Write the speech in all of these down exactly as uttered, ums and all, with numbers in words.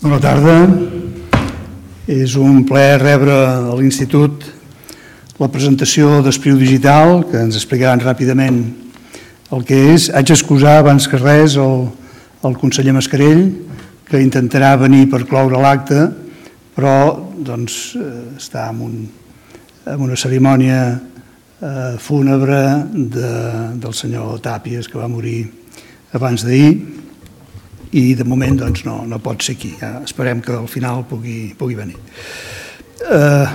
Bona tarda. És un plaer rebre a l'Institut la presentació d'Espriu Digital, que ens explicaran ràpidament el que és. Haig d'excusar abans que res el, el conseller Mascarell, que intentarà venir per cloure l'acte, però doncs, està en, un, en una cerimònia eh, fúnebre de, del senyor Tàpies, que va morir abans d'ahir, i de moment doncs, no, no pot ser aquí. Ja esperem que al final pugui, pugui venir. Eh,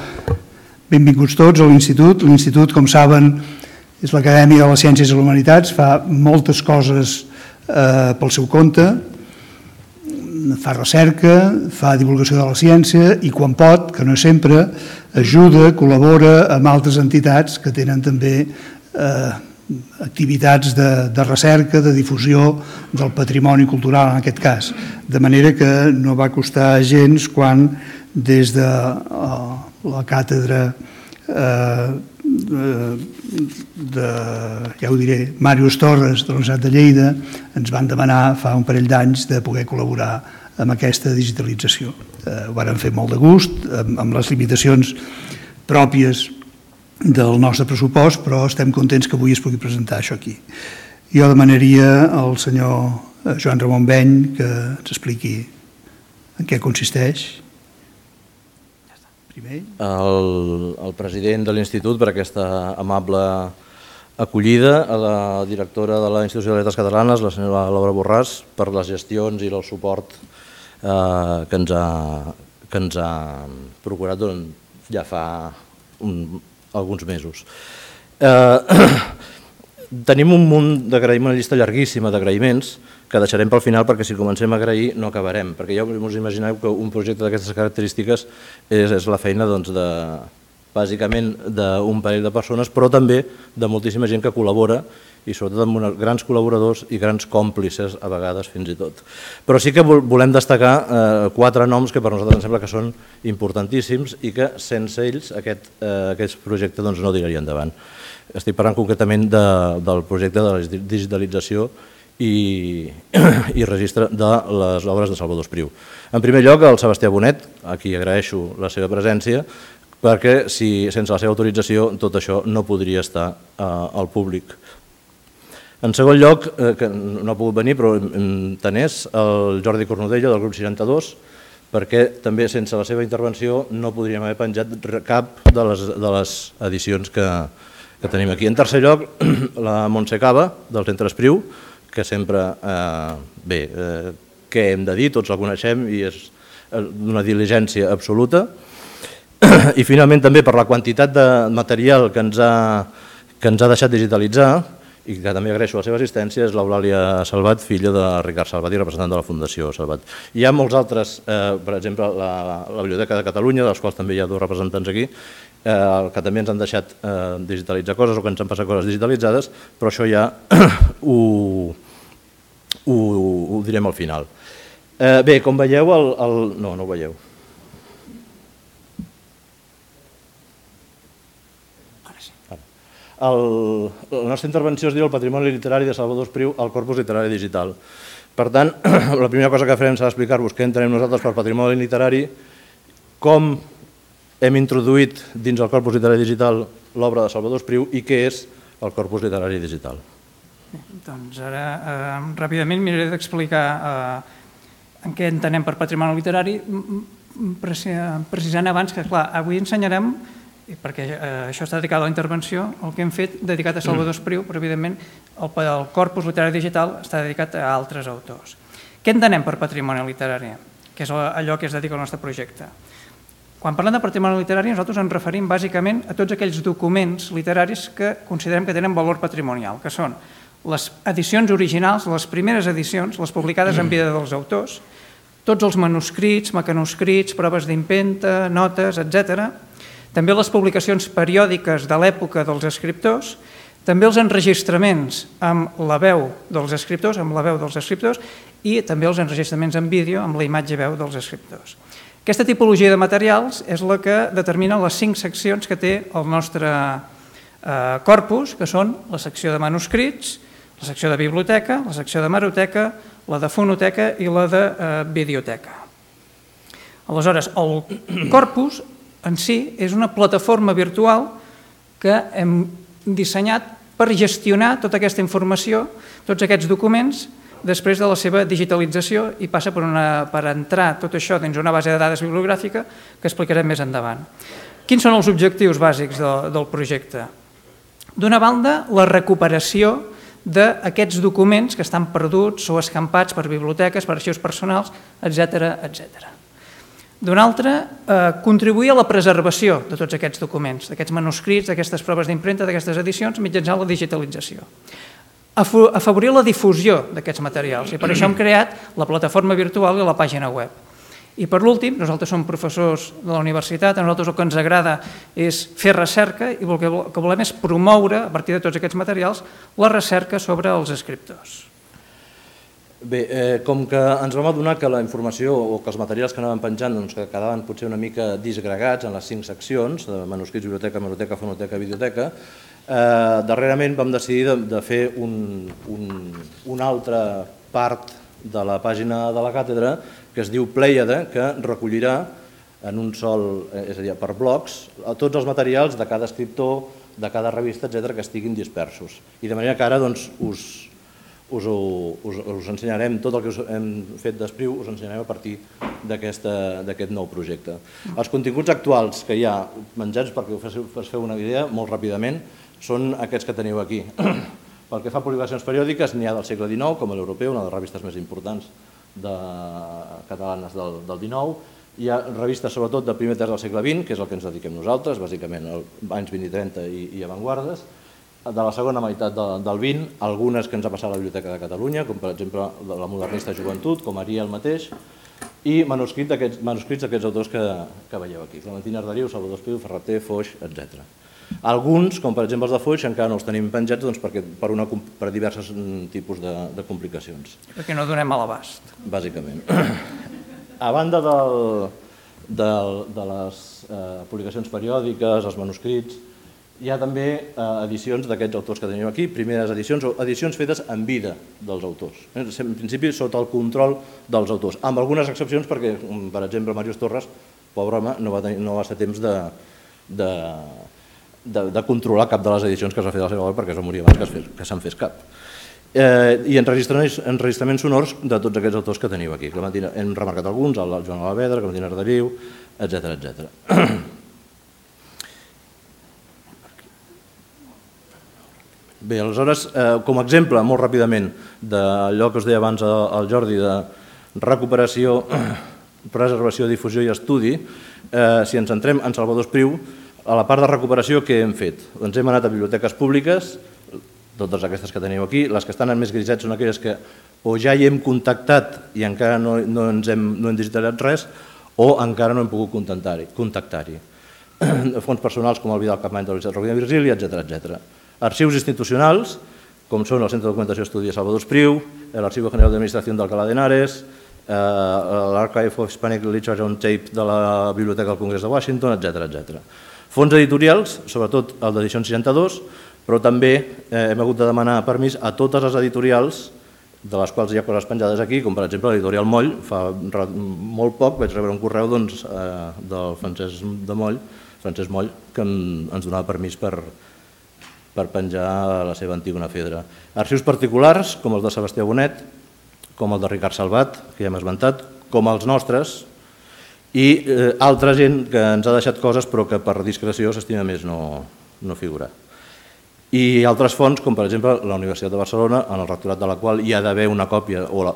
benvinguts tots a l'Institut. L'Institut, com saben, és l'Acadèmia de les Ciències i les Humanitats, fa moltes coses eh, pel seu compte, fa recerca, fa divulgació de la ciència i quan pot, que no és sempre, ajuda, col·labora amb altres entitats que tenen també eh, activitats de, de recerca, de difusió del patrimoni cultural en aquest cas. De manera que no va costar gens quan des de uh, la càtedra uh, de, de, ja ho diré, Màrius Torres de la Universitat de Lleida ens van demanar fa un parell d'anys de poder col·laborar amb aquesta digitalització. Uh, ho varen fer molt de gust, amb, amb les limitacions pròpies del nostre pressupost, però estem contents que avui es pugui presentar això aquí. Jo demanaria al senyor Joan Ramon Beny que ens expliqui en què consisteix. Primer. El, el president de l'Institut, per aquesta amable acollida, a la directora de la Institució de Lletres Catalanes, la senyora Laura Borràs, per les gestions i el suport eh, que, ens ha, que ens ha procurat ja fa un alguns mesos. Eh, tenim un munt d'agraïments, una llista llarguíssima d'agraïments que deixarem pel final perquè si comencem a agrair no acabarem, perquè ja us imagineu que un projecte d'aquestes característiques és, és la feina doncs, de, bàsicament d'un parell de persones, però també de moltíssima gent que col·labora i sobretot amb grans col·laboradors i grans còmplices a vegades fins i tot. Però sí que volem destacar eh, quatre noms que per nosaltres ens sembla que són importantíssims i que sense ells aquest, eh, aquest projecte doncs, no tiraria endavant. Estic parlant concretament de, del projecte de la digitalització i, i registre de les obres de Salvador Espriu. En primer lloc, el Sebastià Bonet, a qui agraeixo la seva presència, perquè si, sense la seva autorització tot això no podria estar eh, al públic. En segon lloc, eh, que no ha pogut venir, però tenés el Jordi Cornudella del grup seixanta-dos, perquè també sense la seva intervenció no podríem haver penjat cap de les, de les edicions que, que tenim aquí. En tercer lloc, la Montse Cava, del Centre Espriu, que sempre, eh, bé, eh, què hem de dir, tots la coneixem i és d'una diligència absoluta. I finalment també per la quantitat de material que ens ha, que ens ha deixat digitalitzar, i que també agraeixo la seva assistència, és l'Eulàlia Salvat, filla de Ricard Salvat i representant de la Fundació Salvat. Hi ha molts altres, eh, per exemple, la, la Biblioteca de Catalunya, dels quals també hi ha dos representants aquí, eh, que també ens han deixat eh, digitalitzar coses o que ens han passat coses digitalitzades, però això ja ho, ho, ho direm al final. Eh, bé, com veieu, el, el... no, no ho veieu. El, la nostra intervenció es diu el patrimoni literari de Salvador Espriu al corpus literari digital. Per tant, la primera cosa que farem serà explicar-vos què entenem nosaltres per patrimoni literari, com hem introduït dins el corpus literari digital l'obra de Salvador Espriu i què és el corpus literari digital. Bé, doncs ara, eh, ràpidament miraré d'explicar eh, en què entenem per patrimoni literari, precisant abans que, clar, avui ensenyarem perquè eh, això està dedicat a la intervenció, el que hem fet dedicat a Salvador Espriu, però evidentment el, el corpus literari digital està dedicat a altres autors. Què entenem per patrimoni literari? Que és allò que es dedica al nostre projecte. Quan parlem de patrimoni literari nosaltres ens referim bàsicament a tots aquells documents literaris que considerem que tenen valor patrimonial, que són les edicions originals, les primeres edicions, les publicades en vida dels autors, tots els manuscrits, mecanoscrits, proves d'empenta, notes, etcètera, també les publicacions periòdiques de l'època dels escriptors, també els enregistraments amb la veu dels escriptors, amb la veu dels escriptors i també els enregistraments en vídeo amb la imatge i veu dels escriptors. Aquesta tipologia de materials és la que determina les cinc seccions que té el nostre corpus, que són la secció de manuscrits, la secció de biblioteca, la secció de hemeroteca, la de fonoteca i la de videoteca. Aleshores, el corpus en si és una plataforma virtual que hem dissenyat per gestionar tota aquesta informació, tots aquests documents, després de la seva digitalització i passa per, una, per entrar tot això dins una base de dades bibliogràfica que explicarem més endavant. Quins són els objectius bàsics de, del projecte? D'una banda, la recuperació d'aquests documents que estan perduts o escampats per biblioteques, per arxius personals, etcètera, etcètera. D'una altra, eh, contribuir a la preservació de tots aquests documents, d'aquests manuscrits, d'aquestes proves d'impremta, d'aquestes edicions, mitjançant la digitalització. Afavorir la difusió d'aquests materials i per això hem creat la plataforma virtual i la pàgina web. I per l'últim, nosaltres som professors de la universitat, a nosaltres el que ens agrada és fer recerca i el que volem és promoure, a partir de tots aquests materials, la recerca sobre els escriptors. Bé, eh, com que ens vam adonar que la informació o que els materials que anaven penjant doncs, que quedaven potser una mica disgregats en les cinc seccions, de manuscrits, biblioteca, hemeroteca, fonoteca, videoteca, eh, darrerament vam decidir de, de fer un, un, una altra part de la pàgina de la càtedra que es diu Plèiade, que recollirà en un sol, és a dir, per blocs, tots els materials de cada escriptor, de cada revista, etcètera, que estiguin dispersos. I de manera que ara doncs, us... Us, us, us ensenyarem tot el que us hem fet d'Espriu, us ensenyarem a partir d'aquest nou projecte. Els continguts actuals que hi ha menjats, perquè us feu una idea molt ràpidament, són aquests que teniu aquí. Pel que fa a publicacions periòdiques, n'hi ha del segle dinou, com l'Europeu, una de les revistes més importants de, catalanes del, del dinou. Hi ha revistes sobretot de primer terç del segle vint, que és el que ens dediquem nosaltres, bàsicament anys vint i trenta i, i avantguardes. De la segona meitat del vint, algunes que ens ha passat a la Biblioteca de Catalunya, com per exemple la modernista joventut, com Ariel mateix, i manuscrits d'aquests autors que, que veieu aquí, Clementina Arderiu, Salvador Espriu, Ferreter, Foix, etcètera. Alguns, com per exemple els de Foix, encara no els tenim penjats doncs, perquè, per, una, per diversos tipus de, de complicacions. Perquè no donem a l'abast. Bàsicament. A banda del, del, de les eh, publicacions periòdiques, els manuscrits, hi ha també eh, edicions d'aquests autors que tenim aquí, primeres edicions o edicions fetes en vida dels autors. En principi, sota el control dels autors, amb algunes excepcions perquè, per exemple, Màrius Torres, pobre home, no va, tenir, no va ser temps de, de, de, de controlar cap de les edicions que es va fer de la seva obra perquè es va morir abans que, que se'n fes cap. Eh, I enregistraments, enregistraments sonors de tots aquests autors que teniu aquí. Clementina, hem remarcat alguns, el Joan Alavedra, Clementina Arderiu, etcètera, etcètera. Bé, aleshores, eh, com a exemple, molt ràpidament, d'allò que us deia abans al Jordi, de recuperació, preservació, difusió i estudi, eh, si ens centrem en Salvador Espriu, a la part de recuperació, què hem fet? Doncs hem anat a biblioteques públiques, totes aquestes que teniu aquí, les que estan en més grisets són aquelles que o ja hi hem contactat i encara no, no, ens hem, no hem digitalitzat res, o encara no hem pogut contactar-hi. Fons personals com el Vidal Capmany de la Universitat Rovira i Virgili, etcètera, etcètera. Arxius institucionals, com són el Centre de Documentació i Estudi de Salvador Espriu, l'Arxivo General d'Administració d'Alcalá de Henares, l'Archive of Hispanic Literature on Tape de la Biblioteca del Congrés de Washington, etcètera, etcètera. Fons editorials, sobretot el d'edicions seixanta-dos, però també hem hagut de demanar permís a totes les editorials, de les quals hi ha coses penjades aquí, com per exemple l'editorial Moll. Fa molt poc vaig rebre un correu del Francesc de Moll, Francesc Moll, que ens donava permís per per penjar la seva Antígona Fedra. Arxius particulars, com els de Sebastià Bonet, com el de Ricard Salvat, que ja hem esmentat, com els nostres, i altra gent que ens ha deixat coses però que per discreció s'estima més no figurar. I altres fonts, com per exemple la Universitat de Barcelona, en el rectorat de la qual hi ha d'haver una còpia, o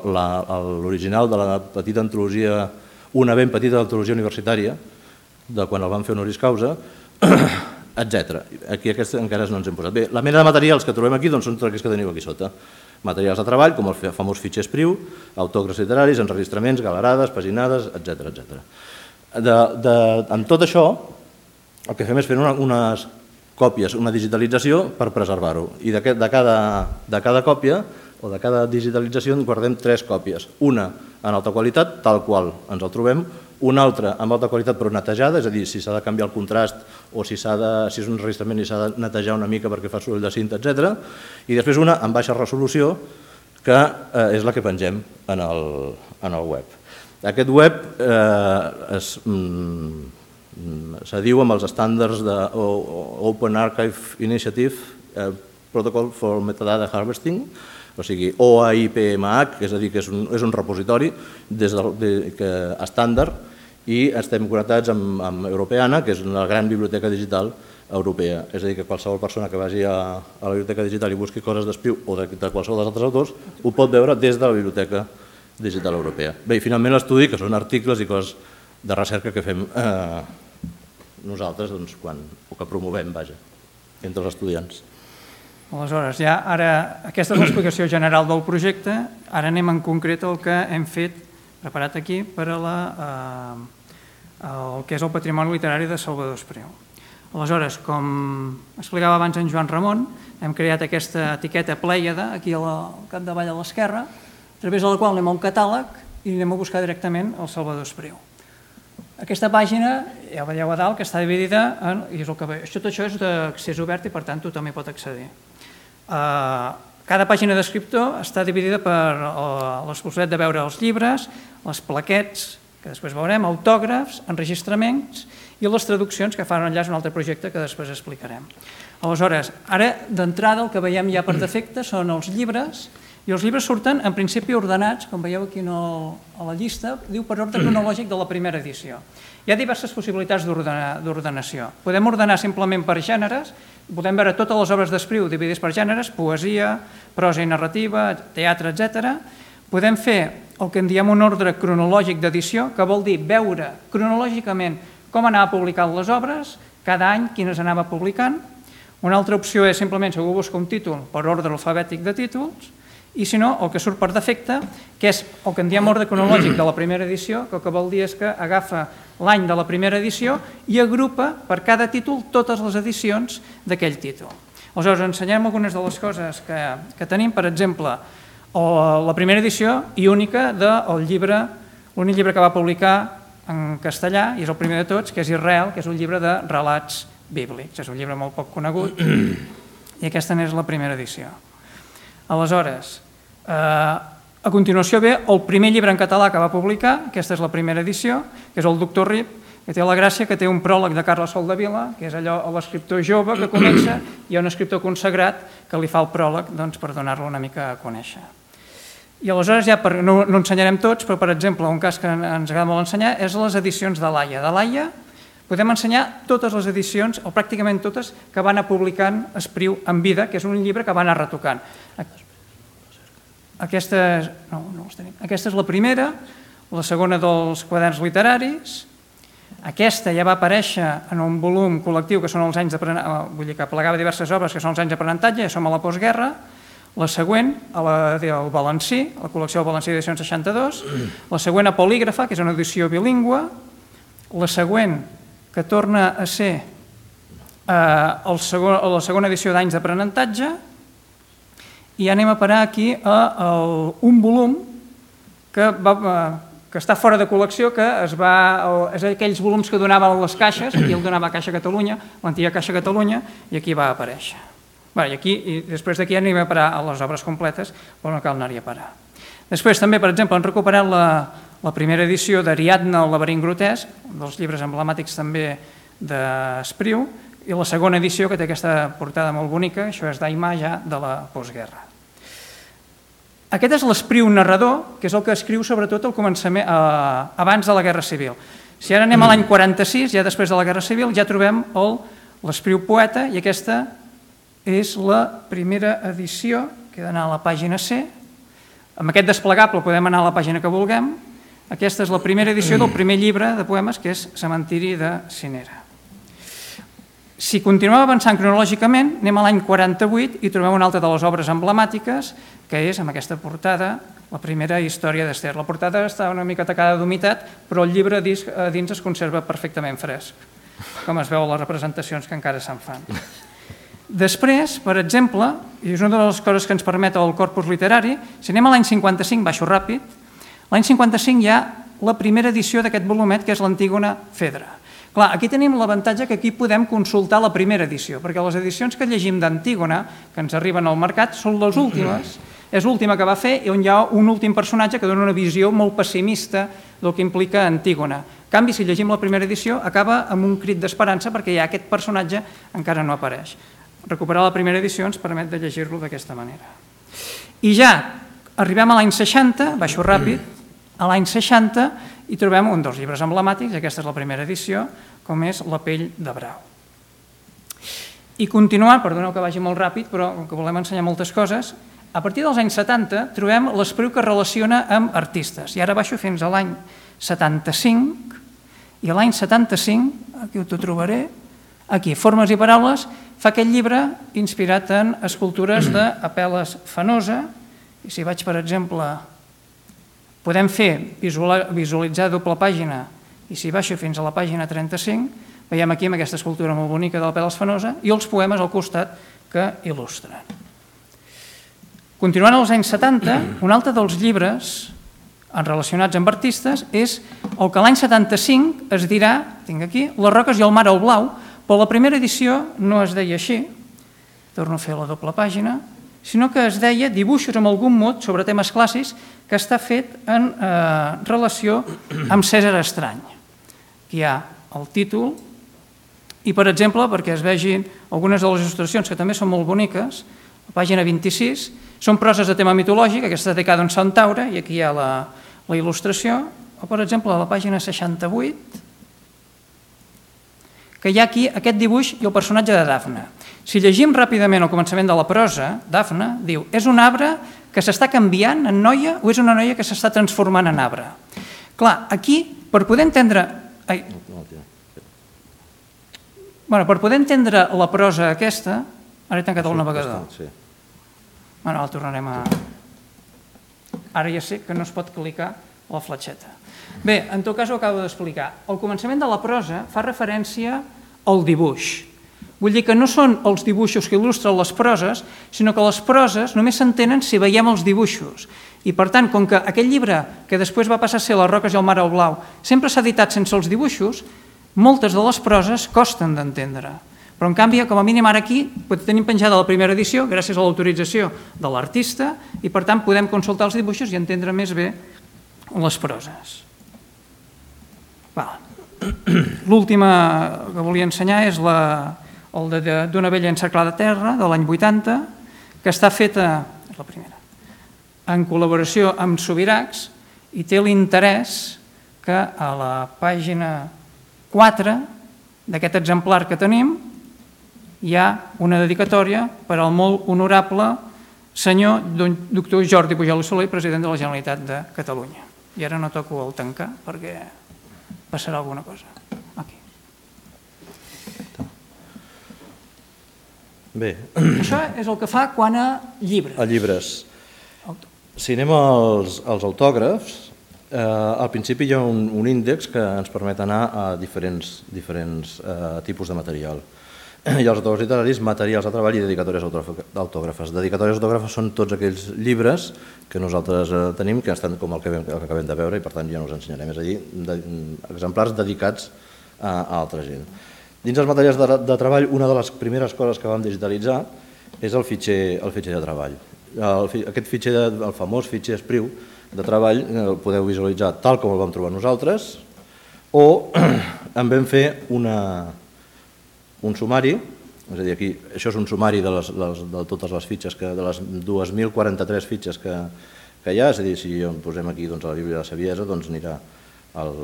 l'original de la petita antologia, una ben petita antologia universitària, de quan el van fer honoris causa, etcètera. Aquí aquests encara no ens hem posat. Bé, la mena de materials que trobem aquí són tots aquests que teniu aquí sota. Materials de treball, com el famós fitxer Espriu, autògrafs literaris, enregistraments, galerades, paginades, etcètera, etcètera. Amb tot això, el que fem és fer unes còpies, una digitalització per preservar-ho. I de cada còpia o de cada digitalització en guardem tres còpies. Una en alta qualitat, tal qual ens el trobem, una altra amb alta qualitat però netejada, és a dir, si s'ha de canviar el contrast o si és un enregistrament i s'ha de netejar una mica perquè fa soroll de cinta, etcètera. I després una amb baixa resolució, que és la que pengem en el web. Aquest web s'adiu amb els estàndards de Open Archive Initiative Protocol for Metadata Harvesting, o sigui, O A I P M H, és a dir, que és un repositori estàndard, i estem connectats amb Europeana, que és una gran biblioteca digital europea. És a dir, que qualsevol persona que vagi a la biblioteca digital i busqui coses d'Espriu o de qualsevol dels altres autors ho pot veure des de la biblioteca digital europea. Bé, i finalment l'estudi, que són articles i coses de recerca que fem nosaltres o que promovem, vaja, entre els estudiants. Aleshores, ja ara, aquesta és l'explicació general del projecte, ara anem en concret al que hem fet, preparat aquí, per a el que és el patrimoni literari de Salvador Espriu. Aleshores, com explicava abans en Joan Ramon, hem creat aquesta etiqueta Plèiade, aquí al capdavall a l'esquerra, a través de la qual anem al catàleg i anem a buscar directament el Salvador Espriu. Aquesta pàgina, ja veieu a dalt, que està dividida en... Tot això és d'accés obert i, per tant, tothom hi pot accedir. Cada pàgina d'escriptor està dividida per la possibilitat de veure els llibres, les plaquets, que després veurem, autògrafs, enregistraments i les traduccions que fan enllaç a un altre projecte que després explicarem. Aleshores, ara d'entrada el que veiem ja per defecte són els llibres, i els llibres surten en principi ordenats, com veieu aquí a la llista, diu per ordre cronològic de la primera edició. Hi ha diverses possibilitats d'ordenació. Podem ordenar simplement per gèneres, podem veure totes les obres d'Espriu dividides per gèneres, poesia, prosa i narrativa, teatre, etcètera. Podem fer el que en diem un ordre cronològic d'edició, que vol dir veure cronològicament com anava publicant les obres, cada any quines anava publicant. Una altra opció és simplement, si algú busca un títol, per ordre alfabètic de títols, i si no, el que surt per defecte, que és el que en diem ordre cronològic de la primera edició, que el que vol dir és que agafa l'any de la primera edició i agrupa per cada títol totes les edicions d'aquell títol. Aleshores, ensenyem algunes de les coses que tenim, per exemple, la primera edició i única del llibre, l'únic llibre que va publicar en castellà, i és el primer de tots, que és Israel, que és un llibre de relats bíblics. És un llibre molt poc conegut i aquesta n'és la primera edició. Aleshores, a continuació ve el primer llibre en català que va publicar, aquesta és la primera edició, que és el Doctor Rip, que té la gràcia que té un pròleg de Carles Soldevila, que és allò l'escriptor jove que comença, i hi ha un escriptor consagrat que li fa el pròleg per donar-lo una mica a conèixer. I aleshores, ja no ensenyarem tots, però per exemple, un cas que ens agrada molt ensenyar és les edicions de Laia. De Laia podem ensenyar totes les edicions, o pràcticament totes, que va anar publicant Espriu en vida, que és un llibre que va anar retocant. Aquesta és la primera, la segona dels quaderns literaris. Aquesta ja va aparèixer en un volum col·lectiu que són els anys d'aprenentatge, vull dir que plegava diverses obres que són els anys d'aprenentatge, ja som a la postguerra. La següent, el Valencí, la col·lecció del Valencí d'edicions seixanta-dos. La següent, a Polígrafa, que és una edició bilingüe. La següent, que torna a ser la segona edició d'anys d'aprenentatge, i anem a parar aquí a un volum que està fora de col·lecció, que és aquells volums que donaven les caixes, aquí el donava Caixa Catalunya, l'antiga Caixa Catalunya, i aquí va aparèixer. I després d'aquí anem a parar a les obres completes, però no cal anar-hi a parar. Després també, per exemple, han recuperat la primera edició d'Ariadna, el laberint grotesc, dels llibres emblemàtics també d'Espriu, i la segona edició, que té aquesta portada molt bonica, això és d'Aimar ja de la postguerra. Aquest és l'Espriu narrador, que és el que escriu sobretot al començament, abans de la Guerra Civil. Si ara anem a l'any quaranta-sis, ja després de la Guerra Civil, ja trobem l'Espriu poeta, i aquesta és la primera edició, que ha d'anar a la pàgina C. Amb aquest desplegable podem anar a la pàgina que vulguem. Aquesta és la primera edició del primer llibre de poemes, que és Cementiri de Cinera. Si continuem avançant cronològicament, anem a l'any quaranta-vuit i trobem una altra de les obres emblemàtiques, que és, amb aquesta portada, la primera història d'Ester. La portada està una mica tacada d'humitat, però el llibre a dins es conserva perfectament fresc, com es veu a les representacions que encara se'n fan. Després, per exemple, i és una de les coses que ens permet el corpus literari, si anem a l'any cinquanta-cinc, baixo ràpid, l'any cinquanta-cinc hi ha la primera edició d'aquest volumet, que és l'Antígona Fedra. Clar, aquí tenim l'avantatge que aquí podem consultar la primera edició, perquè les edicions que llegim d'Antígona, que ens arriben al mercat, són les últimes És l'última que va fer i on hi ha un últim personatge que dona una visió molt pessimista del que implica Antígona. En canvi, si llegim la primera edició, acaba amb un crit d'esperança perquè ja aquest personatge encara no apareix. Recuperar la primera edició ens permet de llegir-lo d'aquesta manera. I ja arribem a l'any seixanta, baixo ràpid, a l'any seixanta i trobem un dels llibres emblemàtics, aquesta és la primera edició, com és La pell de brau. I continuant, perdoneu que vagi molt ràpid, però com que volem ensenyar moltes coses, a partir dels anys setanta trobem l'espriu que es relaciona amb artistes. I ara baixo fins a l'any setanta-cinc, i a l'any setanta-cinc, aquí ho trobaré, aquí, Formes i paraules, fa aquest llibre inspirat en escultures d'Apel·les Fenosa, i si vaig, per exemple, podem fer visualitzar doble pàgina, i si baixo fins a la pàgina trenta-cinc, veiem aquí amb aquesta escultura molt bonica de l'Apel·les Fenosa i els poemes al costat que il·lustren. Continuant als anys setanta, un altre dels llibres relacionats amb artistes és el que l'any setanta-cinc es dirà, tinc aquí, Les roques i el mar al blau, però la primera edició no es deia així, torno a fer la doble pàgina, sinó que es deia Dibuixos amb algun mot sobre temes clàssics, que està fet en relació amb Cèsar Estrany. Aquí hi ha el títol i, per exemple, perquè es vegin algunes de les il·lustracions que també són molt boniques, a la pàgina vint-i-sis, són proses de tema mitològic, aquesta és dedicada a un centaure, i aquí hi ha la il·lustració, o, per exemple, a la pàgina seixanta-vuit, que hi ha aquí aquest dibuix i el personatge de Dafne. Si llegim ràpidament el començament de la prosa, Dafne diu, és un arbre que s'està canviant en noia o és una noia que s'està transformant en arbre? Clar, aquí, per poder entendre... Ai. Bueno, per poder entendre la prosa aquesta, ara he tancat el navegador. Bueno, el tornarem a... Ara ja sé que no es pot clicar la fletxeta. Bé, en tot cas ho acabo d'explicar. El començament de la prosa fa referència al dibuix. Vull dir que no són els dibuixos que il·lustren les proses, sinó que les proses només s'entenen si veiem els dibuixos. I per tant, com que aquest llibre, que després va passar a ser Les roques i el mar al blau, sempre s'ha editat sense els dibuixos, moltes de les proses costen d'entendre. Però, en canvi, com a mínim ara aquí tenim penjada la primera edició gràcies a l'autorització de l'artista i, per tant, podem consultar els dibuixos i entendre més bé les proses. L'última que volia ensenyar és el d'Una vella encerclada a terra, de l'any vuitanta, que està feta, és la primera, en col·laboració amb Subirachs i té l'interès que a la pàgina quatre d'aquest exemplar que tenim hi ha una dedicatòria per al molt honorable senyor doctor Jordi Pujol i Soler, president de la Generalitat de Catalunya. I ara no toco el tancar perquè passarà alguna cosa. Aquí. Bé. Això és el que fa quan a llibres. A llibres. Si anem als, als autògrafs, eh, al principi hi ha un, un índex que ens permet anar a diferents, diferents eh, tipus de material. Hi ha els autògrafs literaris, materials de treball i dedicatòries autògrafes. Dedicatòries autògrafes són tots aquells llibres que nosaltres eh, tenim, que estan com el que, el que acabem de veure i per tant ja no us ensenyarem. És a dir, de, exemplars dedicats a, a altra gent. Dins els materials de, de treball, una de les primeres coses que vam digitalitzar és el fitxer, el fitxer de treball. El, aquest fitxer, de, el famós fitxer Espriu de treball, el podeu visualitzar tal com el vam trobar nosaltres, o en vam fer una, un sumari, és a dir, aquí, això és un sumari de, les, les, de totes les fitxes, que, de les dues mil quaranta-tres fitxes que, que hi ha, és a dir, si posem aquí doncs, a la Bíblia de la Saviesa, doncs anirà el,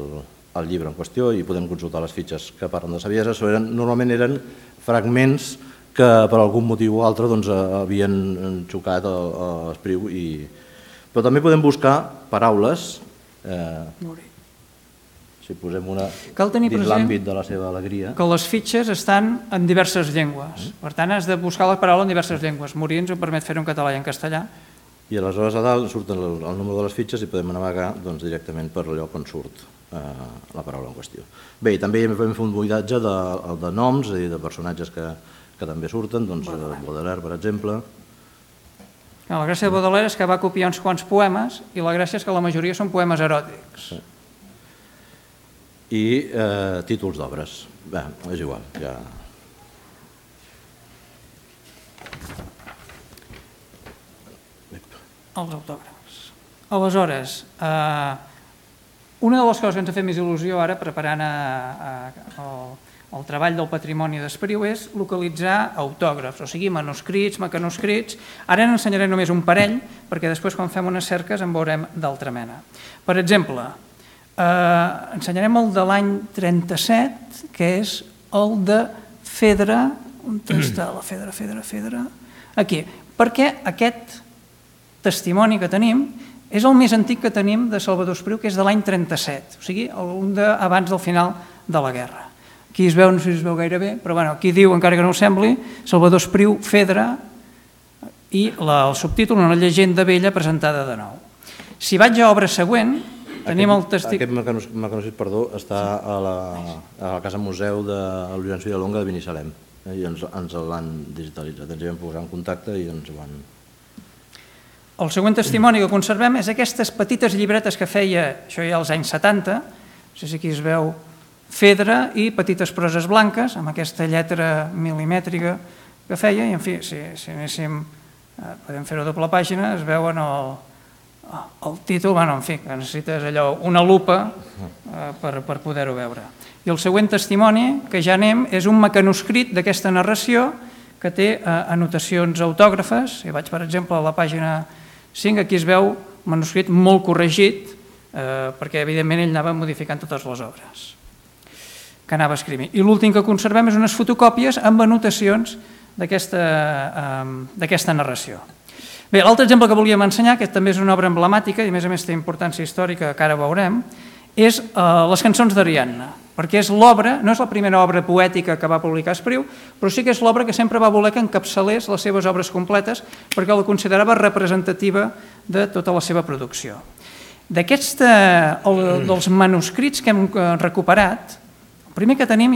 el llibre en qüestió i podem consultar les fitxes que parlen de Saviesa. Eren, normalment eren fragments que per algun motiu o altre doncs, havien xocat a, a l'Espriu. I... Però també podem buscar paraules, eh, si posem una dins l'àmbit de la seva alegria. Que les fitxes estan en diverses llengües. Per tant, has de buscar la paraula en diverses llengües. Morir ens ho permet fer en català i en castellà. I aleshores a dalt surt el, el número de les fitxes i podem navegar doncs, directament per allò on surt eh, la paraula en qüestió. Bé, també hem fet un buidatge de, de noms, és a dir, de personatges que, que també surten, doncs Baudelaire, per exemple. La gràcia de Baudelaire és que va copiar uns quants poemes i la gràcia és que la majoria són poemes eròtics. Sí. I eh, títols d'obres. Bé, és igual, ja... els autògrafs. Aleshores, una de les coses que ens ha fet més il·lusió ara, preparant el treball del patrimoni d'Espriu, és localitzar autògrafs, o sigui, manuscrits, mecanoscrits. Ara n'ensenyaré només un parell, perquè després, quan fem unes cerques, en veurem d'altra mena. Per exemple, ensenyarem el de l'any trenta-set, que és el de Fedra. On està la Fedra, Fedra, Fedra? Aquí. Perquè aquest testimoni que tenim és el més antic que tenim de Salvador Espriu, que és de l'any trenta-set, o sigui, un d'abans del final de la guerra. Aquí es veu, no sé si es veu gaire bé, però bueno, aquí diu, encara que no ho sembli, Salvador Espriu, Fedra, i el subtítol, una llegenda vella presentada de nou. Si vaig a obra següent, tenim el testimoni... Aquest mecanoscrit, perdó, està a la Casa Museu de Llorenç Villalonga de Binissalem, i ens l'han digitalitzat, ens hi vam posar en contacte i ens ho van... El següent testimoni que conservem és aquestes petites llibretes que feia, això ja als anys setanta, no sé si aquí es veu, Fedra i petites proses blanques, amb aquesta lletra milimètrica que feia, i en fi, si anéssim, podem fer-ho a doble pàgina, es veuen el títol, bueno, en fi, que necessites allò, una lupa per poder-ho veure. I el següent testimoni, que ja anem, és un mecanoscrit d'aquesta narració que té anotacions autògrafes. Si vaig, per exemple, a la pàgina cinc, aquí es veu un manuscrit molt corregit, perquè evidentment ell anava modificant totes les obres que anava escrivint. I l'últim que conservem és unes fotocòpies amb anotacions d'aquesta narració. Bé, l'altre exemple que volíem ensenyar, que també és una obra emblemàtica i a més a més té importància històrica, que ara veurem, és les cançons d'Ariadna, perquè és l'obra, no és la primera obra poètica que va publicar Espriu, però sí que és l'obra que sempre va voler que encapçalés les seves obres completes perquè la considerava representativa de tota la seva producció. Dels manuscrits que hem recuperat, el primer que tenim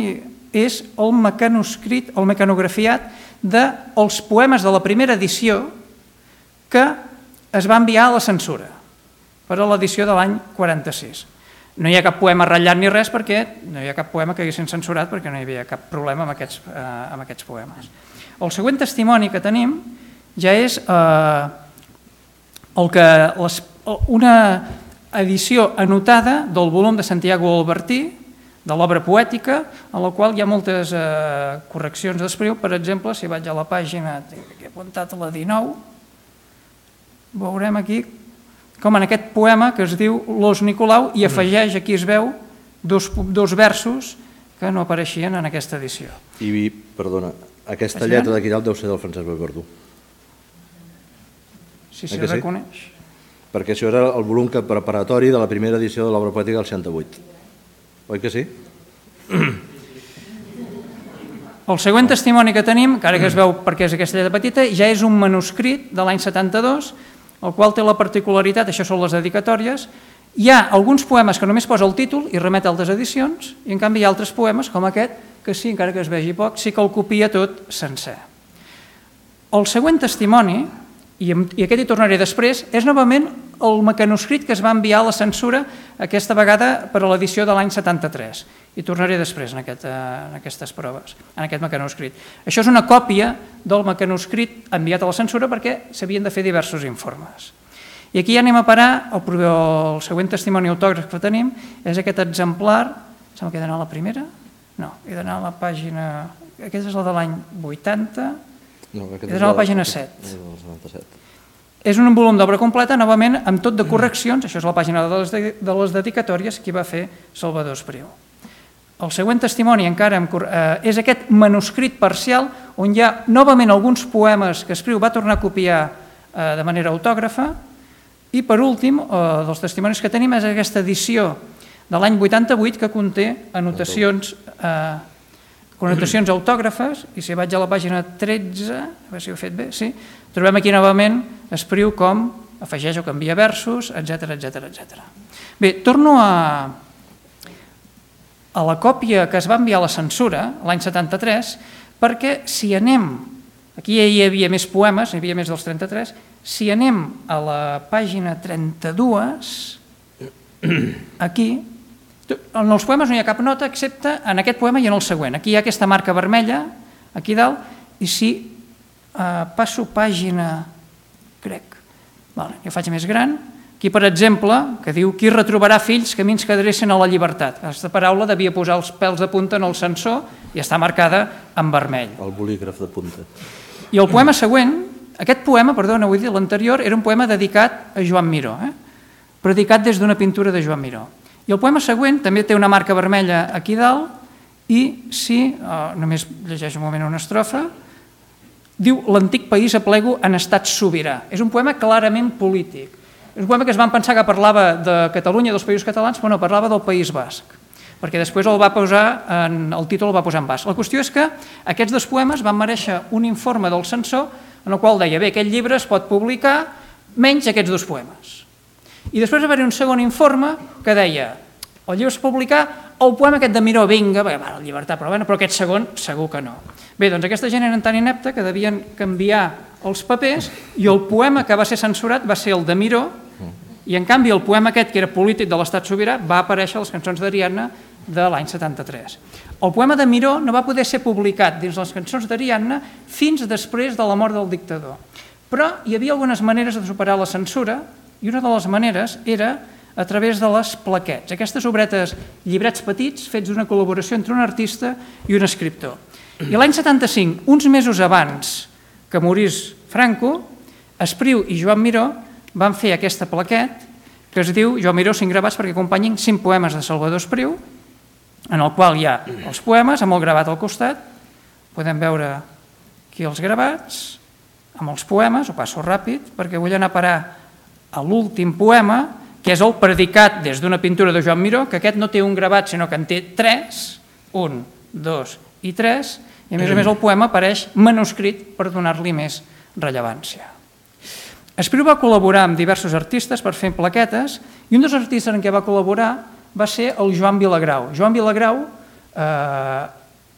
és el mecanoscrit, el mecanografiat dels poemes de la primera edició que es va enviar a la censura per a l'edició de l'any quaranta-sis. No hi ha cap poema ratllat ni res perquè no hi ha cap poema que haguessin censurat perquè no hi havia cap problema amb aquests poemes. El següent testimoni que tenim ja és una edició anotada del volum de Santiago Albertí, de l'obra poètica, en la qual hi ha moltes correccions d'Espriu. Per exemple, si vaig a la pàgina, que he apuntat a la dinou, veurem aquí com en aquest poema que es diu L'Os Nicolau i afegeix, aquí es veu, dos versos que no apareixien en aquesta edició. I, perdona, aquesta lletra d'aquí dalt deu ser del Francesc Vallverdú. Sí, sí, reconeix. Perquè això era el volum preparatori de la primera edició de l'obra poètica del seixanta-vuit. Oi que sí? El següent testimoni que tenim, encara que es veu perquè és aquesta lletra petita, ja és un manuscrit de l'any setanta-dos, el qual té la particularitat, això són les dedicatòries, hi ha alguns poemes que només posa el títol i remet a altres edicions, i en canvi hi ha altres poemes, com aquest, que sí, encara que es vegi poc, sí que el copia tot sencer. El següent testimoni, i aquest hi tornaré després, és novament el mecanoscrit que es va enviar a la censura, aquesta vegada per a l'edició de l'any setanta-tres. Hi tornaré després en aquestes proves, en aquest mecanoscrit. Això és una còpia del mecanoscrit enviat a la censura perquè s'havien de fer diversos informes. I aquí ja anem a parar, el següent testimoni autògraf que tenim és aquest exemplar, sembla que he d'anar a la primera? No, he d'anar a la pàgina, aquesta és la de l'any vuitanta, he d'anar a la pàgina set. És un volum d'obra completa, novament, amb tot de correccions, això és la pàgina de les dedicatòries que va fer Salvador Espriu. El següent testimoni encara és aquest manuscrit parcial on hi ha novament alguns poemes que Espriu va tornar a copiar de manera autògrafa i per últim, dels testimonis que tenim és aquesta edició de l'any vuitanta-vuit que conté anotacions connotacions autògrafes, i si vaig a la pàgina tretze, a veure si ho he fet bé, sí, trobem aquí novament Espriu com afegeix o canvia versos, etcètera, etcètera, etcètera. Bé, torno a a la còpia que es va enviar a la censura l'any setanta-tres, perquè si anem, aquí ja hi havia més poemes, hi havia més dels trenta-tres, si anem a la pàgina trenta-dos, aquí, en els poemes no hi ha cap nota excepte en aquest poema i en el següent. Aquí hi ha aquesta marca vermella, aquí dalt, i si passo pàgina, crec, Jo faig més gran. Aquí, per exemple, que diu qui retrobarà fills camins que adrecen a la llibertat. Aquesta paraula devia posar els pèls de punta en el sensor i està marcada en vermell. El bolígraf de punta. I el poema següent, aquest poema, perdona, vull dir, l'anterior, era un poema dedicat a Joan Miró, eh? predicat des d'una pintura de Joan Miró. I el poema següent també té una marca vermella aquí dalt i si, oh, només llegeixo un moment una estrofa, diu l'antic país aplego en estat sobirà. És un poema clarament polític. És un poema que es van pensar que parlava de Catalunya, dels països catalans, però no, parlava del País Basc, perquè després el va posar en, el títol el va posar en basc. La qüestió és que aquests dos poemes van mereixer un informe del censor en el qual deia, bé, aquest llibre es pot publicar menys aquests dos poemes. I després va haver un segon informe que deia, el llibre es publicar el poema aquest de Miró, vinga, va, la llibertat, però, bueno, però aquest segon segur que no. Bé, doncs aquesta gent era tan inepta que devien canviar els papers i el poema que va ser censurat va ser el de Miró i en canvi el poema aquest, que era polític de l'estat sobirà, va aparèixer a les cançons d'Ariadna de l'any setanta-tres. El poema de Miró no va poder ser publicat dins les cançons d'Ariadna fins després de la mort del dictador. Però hi havia algunes maneres de superar la censura i una de les maneres era a través de les plaquetes, aquestes obretes, llibrets petits fets d'una col·laboració entre un artista i un escriptor. I l'any setanta-cinc, uns mesos abans que morís Franco, Espriu i Joan Miró van fer aquesta plaquet que es diu Joan Miró, cinc gravats perquè acompanyin cinc poemes de Salvador Espriu, en el qual hi ha els poemes amb el gravat al costat. Podem veure aquí els gravats amb els poemes, ho passo ràpid perquè vull anar a parar a l'últim poema, que és el predicat des d'una pintura de Joan Miró, que aquest no té un gravat sinó que en té tres, un, dos i tres, i a més a més el poema apareix manuscrit per donar-li més rellevància. Espriu va col·laborar amb diversos artistes per fer plaquetes i un dels artistes en què va col·laborar va ser el Joan Vilagrau. Joan Vilagrau, eh,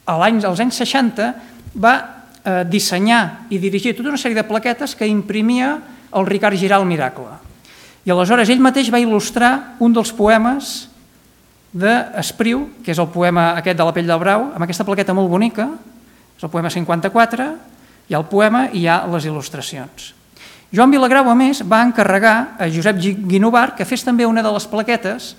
als anys seixanta, va eh, dissenyar i dirigir tota una sèrie de plaquetes que imprimia el Ricard Giral Miracle. I aleshores ell mateix va il·lustrar un dels poemes d'Espriu, que és el poema aquest de la pell del brau, amb aquesta plaqueta molt bonica, és el poema cinquanta-quatre, hi ha el poema i hi ha les il·lustracions. Joan Vilagrau, a més, va encarregar a Josep Guinovar que fes també una de les plaquetes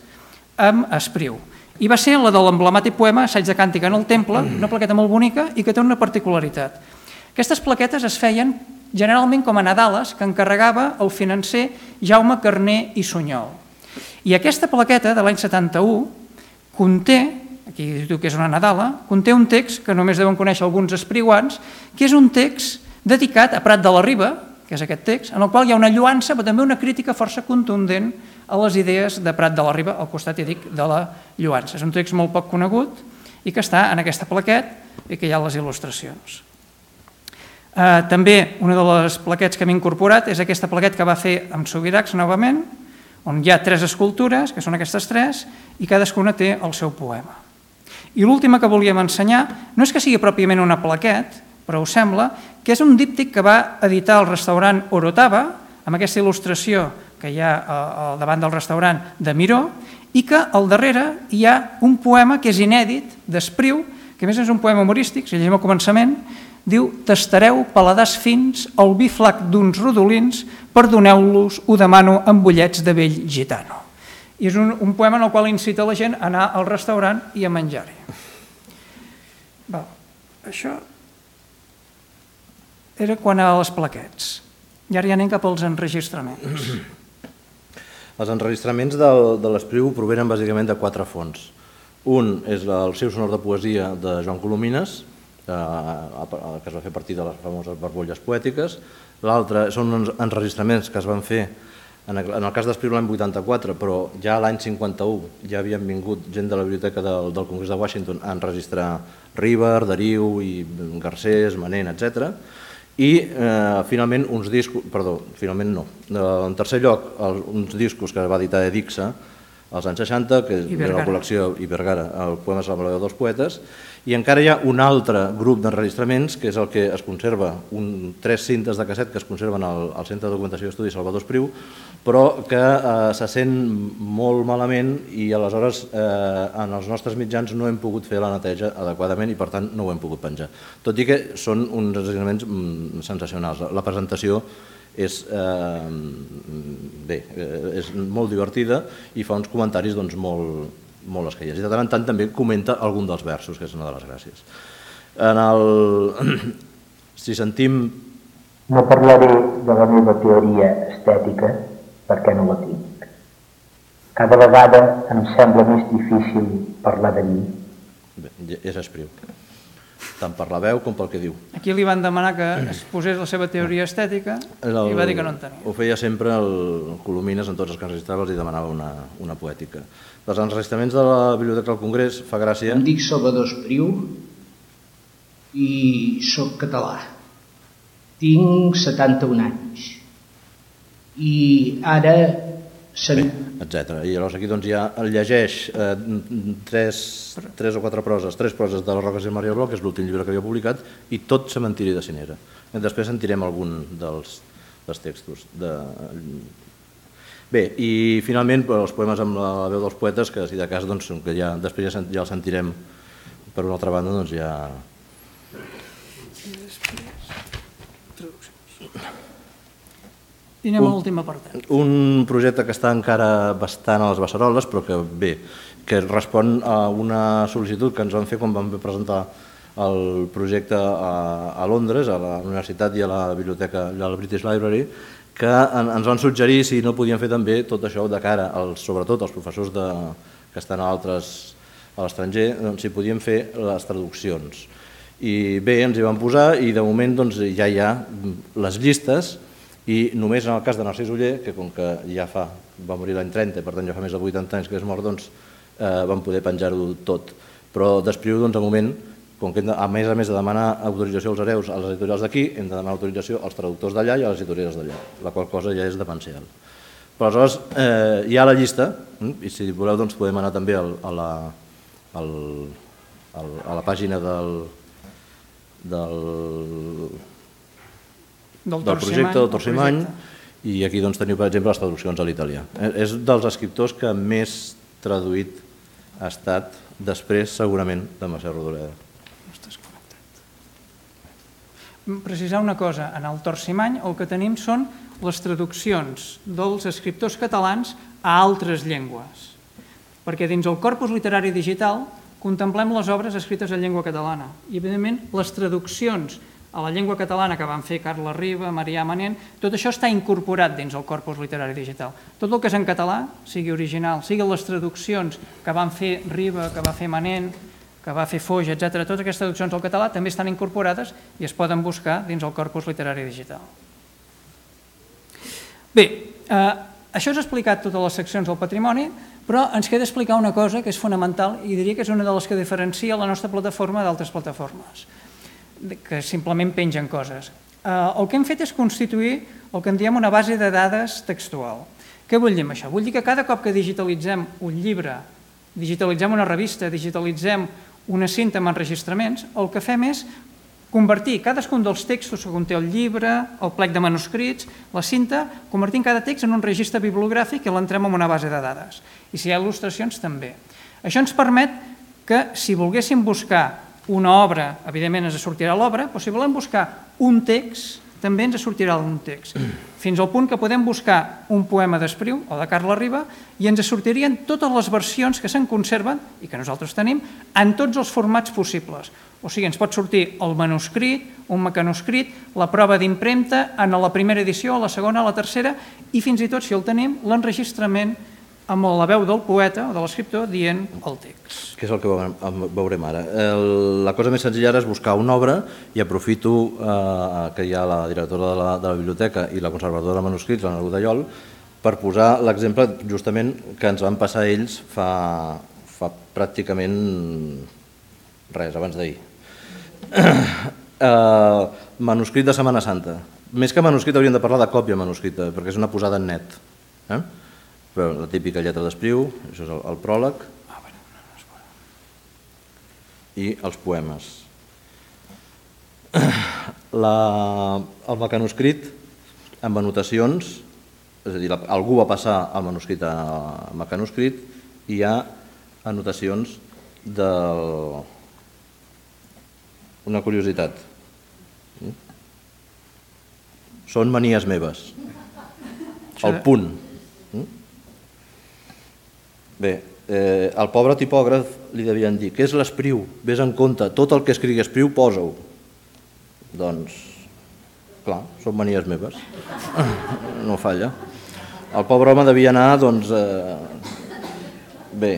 amb Espriu. I va ser la de l'emblemàtic poema Assaig de càntica en el temple, una plaqueta molt bonica i que té una particularitat. Aquestes plaquetes es feien generalment com a nadales que encarregava el financer Jaume Carner i Sunyol. I aquesta plaqueta de l'any setanta-u conté, aquí diu que és una nadala, conté un text que només deuen conèixer alguns espriuans, que és un text dedicat a Prat de la Riba, que és aquest text, en el qual hi ha una lluança, però també una crítica força contundent a les idees de Prat de la Riba, al costat, ja dic, de la lluança. És un text molt poc conegut i que està en aquesta plaquet i que hi ha les il·lustracions. També una de les plaquets que hem incorporat és aquesta plaquet que va fer amb Subirachs novament, on hi ha tres escultures, que són aquestes tres, i cadascuna té el seu poema. I l'última que volíem ensenyar no és que sigui pròpiament una plaquet, però us sembla que és un díptic que va editar el restaurant Orotava, amb aquesta il·lustració que hi ha al davant del restaurant de Miró, i que al darrere hi ha un poema que és inèdit d'Espriu, que a més és un poema humorístic, si llegim al començament, diu «Tastareu paladars fins el vi flac d'uns rodolins, perdoneu-los, ho demano amb bullets de vell gitano». I és un, un poema en el qual incita la gent a anar al restaurant i a menjar-hi. Això era quan a les plaquets. I ara ja anem cap als enregistraments. Els enregistraments de l'Espriu provenen bàsicament de quatre fonts. Un és el seu sonor de poesia de Joan Colomines, que es va fer a partir de les famoses barbolles poètiques. L'altre són uns enregistraments que es van fer, en el cas d'Espriu l'any vuitanta-quatre, però ja l'any cinquanta-u ja havien vingut gent de la biblioteca del Congrés de Washington a enregistrar Riber, Dariu, Garcés, Manent, etcètera. I finalment uns discos, perdó, finalment no, en tercer lloc uns discos que va editar Edixa als anys seixanta, que era la col·lecció i Vergara, el Poemes a la veu dels poetes, i encara hi ha un altre grup d'enregistraments, que és el que es conserva, tres cintes de casset que es conserven al Centre de Documentació i Estudis Salvador Espriu, però que se sent molt malament i aleshores en els nostres mitjans no hem pogut fer la neteja adequadament i per tant no ho hem pogut penjar. Tot i que són uns enregistraments sensacionals. La presentació és, eh, bé, és molt divertida i fa uns comentaris doncs, molt, molt escaient. I de tant en tant també comenta algun dels versos, que és una de les gràcies. En el... Si sentim... No parlaré de la meva teoria estètica perquè no la tinc. Cada vegada em sembla més difícil parlar de mi. Bé, és Espriu, tant per la veu com pel que diu. Aquí li van demanar que es posés la seva teoria estètica i va dir que no en tenia. Ho feia sempre el Colomines, en tots els que enregistrava els demanava una, una poètica. Dels enregistraments de la Biblioteca del Congrés fa gràcia... Em dic Salvador Espriu i soc català. Tinc setanta-un anys i ara... Bé, etcètera. I llavors aquí doncs ja el llegeix eh, tres, tres o quatre proses, tres proses de les Roques i el Maria Bloc, que és l'últim llibre que havia publicat, i tot Cementiri de Cinera. Després sentirem algun dels, dels textos. De... Bé, i finalment els poemes amb la veu dels poetes, que si de cas, doncs, que ja, després ja, ja els sentirem per una altra banda, doncs ja... I anem a l'últim apartat. Un projecte que està encara bastant a les beceroles, però que bé, que respon a una sol·licitud que ens van fer quan vam presentar el projecte a, a Londres, a la universitat i a la biblioteca, a la British Library, que en, ens van suggerir si no podien fer també tot això de cara, als, sobretot als professors de, que estan a altres a l'estranger, doncs, si podien fer les traduccions. I bé, ens hi vam posar i de moment doncs, ja hi ha les llistes. I només en el cas de Narcís Oller, que com que ja fa, va morir l'any trenta, per tant ja fa més de vuitanta anys que és mort, doncs eh, vam poder penjar-ho tot. Però d'Espriu, doncs, de moment, com que hem de, a més a més de demanar autorització als hereus a les editorials d'aquí, hem de demanar autorització als traductors d'allà i a les editorials d'allà, la qual cosa ja és demencial. Però aleshores eh, hi ha la llista, i si voleu doncs podem anar també al, a, la, al, al, a la pàgina del... del del, del projecte del Torsimany, i aquí doncs, teniu, per exemple, les traduccions a l'italià. És dels escriptors que més traduït ha estat després, segurament, de Mercè Rodoreda. Precisar una cosa, en el Torsimany el que tenim són les traduccions dels escriptors catalans a altres llengües, perquè dins el corpus literari digital contemplem les obres escrites en llengua catalana i, evidentment, les traduccions a la llengua catalana que van fer Carles Riba, Marià Manent, tot això està incorporat dins el corpus literari digital. Tot el que és en català, sigui original, siguin les traduccions que van fer Riba, que va fer Manent, que va fer Foix, etcètera, totes aquestes traduccions al català també estan incorporades i es poden buscar dins el corpus literari digital. Bé, eh, això és explicat totes les seccions del patrimoni, però ens queda explicar una cosa que és fonamental i diria que és una de les que diferencia la nostra plataforma d'altres plataformes, que simplement pengen coses. El que hem fet és constituir el que en diem una base de dades textual. Què vull dir amb això? Vull dir que cada cop que digitalitzem un llibre, digitalitzem una revista, digitalitzem una cinta amb enregistraments, el que fem és convertir cadascun dels textos que conté el llibre, el plec de manuscrits, la cinta, convertint cada text en un registre bibliogràfic i l'entrem en una base de dades. I si hi ha il·lustracions, també. Això ens permet que, si volguéssim buscar una obra, evidentment ens sortirà l'obra, però si volem buscar un text, també ens sortirà un text. Fins al punt que podem buscar un poema d'Espriu o de Carles Riba i ens sortirien totes les versions que se'n conserven i que nosaltres tenim en tots els formats possibles. O sigui, ens pot sortir el manuscrit, un mecanoscrit, la prova d'impremta, en la primera edició, a la segona, a la tercera, i fins i tot, si el tenim, l'enregistrament amb la veu del poeta o de l'escriptor dient el text. Que és el que veurem ara. La cosa més senzilla ara és buscar una obra i aprofito que hi ha la directora de la biblioteca i la conservadora de manuscrits, l'Anna Godallol, per posar l'exemple justament que ens van passar ells fa pràcticament res, abans d'ahir. Manuscrit de Setmana Santa. Més que manuscrit hauríem de parlar de còpia manuscrita, perquè és una posada en net. La típica lletra d'Espriu, això és el pròleg, i els poemes. El mecanoscrit amb anotacions, és a dir, algú va passar el manuscrit a mecanoscrit i hi ha anotacions de... Una curiositat. són manies meves. El punt. Bé, al pobre tipògraf li devien dir què és l'espriu? Ves en compte, tot el que escrigui espriu posa-ho. Doncs, clar, són manies meves. No falla. El pobre home devia anar, doncs... Bé,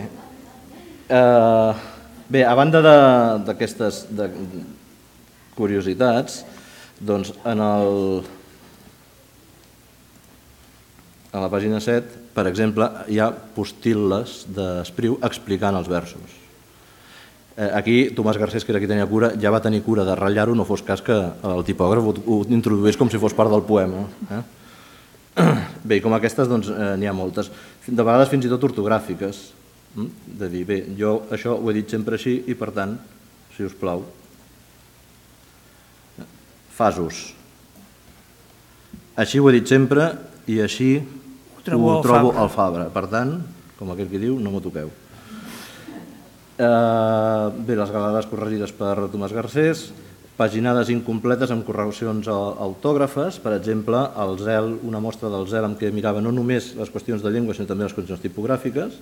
bé, a banda d'aquestes curiositats, doncs en el... A la pàgina set, per exemple, hi ha postil·les d'Espriu explicant els versos. Aquí, Tomàs Garcés, que era qui tenia cura, ja va tenir cura de ratllar-ho, no fos cas que el tipògraf ho introduís com si fos part del poema. Bé, i com aquestes n'hi ha moltes, de vegades fins i tot ortogràfiques, de dir, bé, jo això ho he dit sempre així i, per tant, si us plau, fasos. Així ho he dit sempre i així ho trobo al Fabra. Per tant, com aquell que diu, no m'ho toqueu. Bé, les galades corregides per Tomàs Garcés, paginades incompletes amb correccions autògrafes, per exemple, el zel, una mostra del zel en què mirava no només les qüestions de llengua, sinó també les qüestions tipogràfiques.